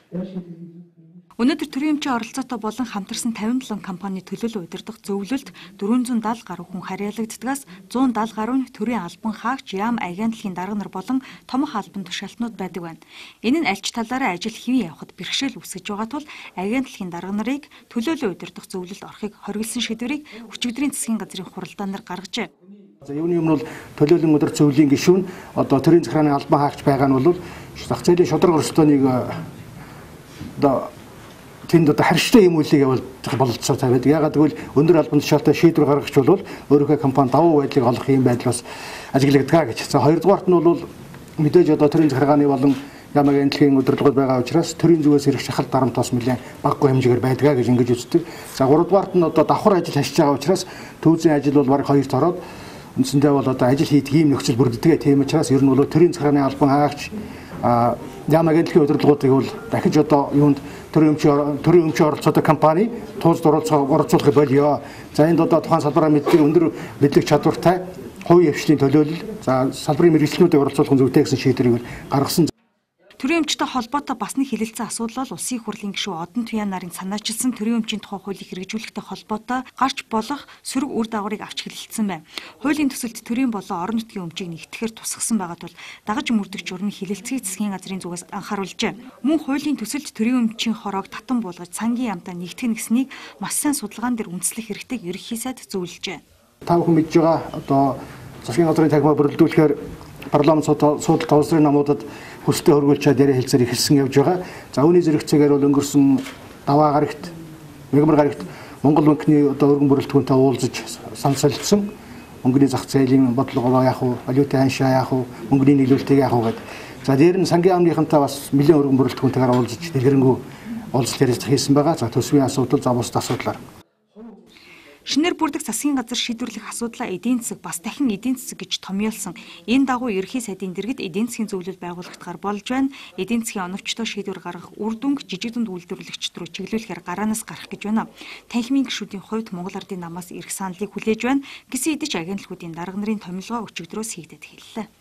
Өнөөдөр төрийн эмчийн оролцоотой болон хамтарсан 57 компани төлөөлөл удирдах зөвлөлд 470 гаруй хүн харьяалагддгаас 170 гаруй нь төрийн албан хаагч, яам агентлагийн дарга нар болон томох албан тушаалтнууд байдаг байна. Энэ нь аль ч талаараа ажил хэвэн явахад бэрхшээл үүсгэж байгаа тул агентлагийн дарга нарыг төлөөлөл удирдах зөвлөлд орохыг хориглосон шийдвэрийг өчигдрийн засгийн газрын хуралдаанаар гаргажээ. За юуны өмнө бол төлөөллийн өдөр зөвлөлийн гишүүн одоо төрийн захиргааны албан хаагч байгаа нь бол зах зээлийн шударга өрсөлдөөнийг одоо тэнд одоо харьцтай юм үйлийг явуулах бололцоо тавиад. Ягаад гэвэл өндөр албан тушаалтай шийдвэр гаргагч бол өөрийнхөө компани давуу байдлыг олох юм байдал бас ажиглагдаг гэж. За хоёрдугаарт нь бол мэдээж одоо төрийн захиргааны болон яам агентлагийн удирдлагууд байгаа учраас төрийн зүгээс ирэх шахалт дарамт бас нэлээд баггүй хэмжээгээр байдгаа гэж ингэж үздэг. За гуравдугаарт нь одоо давхар ажил хашиж байгаа учраас төвзийн ажил бол бараг хоёрт ороод үндсэндээ бол одоо ажил хийх ийм нөхцөл бүрддэг. Тийм учраас ер нь бол төрийн захиргааны албан хаагч яам агентлагийн удирдлагуудыг бол дахиж одоо юунд төрийн өмчийн оролцоотой компани туулзд оролцуулах болио. За энд одоо тухайн салбараа мэддэг өндөр мэдлэг чадвартай хувийн хвшлийн төлөөлөл за салбарын мэргэжлүүдийг оролцуулах зүйтэй гэсэн шийдвэрийг гаргасан. Төрийн өмчтэй холбоотой бас нэг хилэлцэн асуудал бол улсын хурлын гишүүн Одон Туяа нарын санаачилсан төрийн өмчийн тухай хуулийг хэрэгжүүлэхтэй холбоотой гарч болох сөрөг үр дагаврыг авч хэлэлцсэн байна. Хуулийн төсөлд төрийн болон орон нутгийн өмчийг нэгтгэхээр тусгасан байгаа тул дагаж мөрдөх журмын хилэлцгийг засгийн газрын зүгээс анхааруулжээ. Мөн хуулийн төсөлд төрийн өмчийн хороог татан буулгаж цангийн яамтай нэгтгэх нэгснийг маш сайн судалгаан дээр үндэслэх хэрэгтэйг ерөнхий сайд зөвлөжээ. Та бүхэн мэдж байгаа одоо засгийн газрын тагмаа бүрэлдүүлэхээр парламент судалт тооцрын намуудад хүсэлтэд хөргүүлж чад яриа хэлцээр эхэлсэн явж байгаа. За үүний зэрэгцээгээр бол өнгөрсөн даваа гарагт, мегмар гарагт Монгол банкны одоо өргөн бүрэлдэхүүнтэй уулзаж санал солилцсон. Мөнгөний зах зээлийн бодлого яах вэ? Валютын ханшаа яах вэ? Мөнгөний нийлүүлэлтийг яах вэ гэдэг. За дээр нь сангийн яамныхантай бас нэлээд өргөн бүрэлдэхүүнтэйгээр уулзаж дэлгэрэнгүй уулзалт ярилцлага хийсэн байгаа. За төсвийн асуудал, за бусад асуудлаар. Шинээр бүрдэх засгийн газар шийдвэрлэх асуудлаа эдийн засаг бас дахин эдийн засаг гэж томьёолсон. Энэ дагуу ерхий сайдын дэргэд эдийн засгийн зөвлөл байгуулагдахаар болж байна. Эдийн засгийн оновчтой шийдвэр гаргах үр дүнг жижиг дунд үйлдвэрлэгчид рүү чиглүүлэхээр гараанаас гарах гэж байна. Танхимын гишүүдийн хувьд Монгол Ардын намаас ирэх саналыг хүлээж байна. Гэсэн хэдий ч агентлагуудын дарга нарын томилгоо өчигдрөөс хийгдэж хэллээ.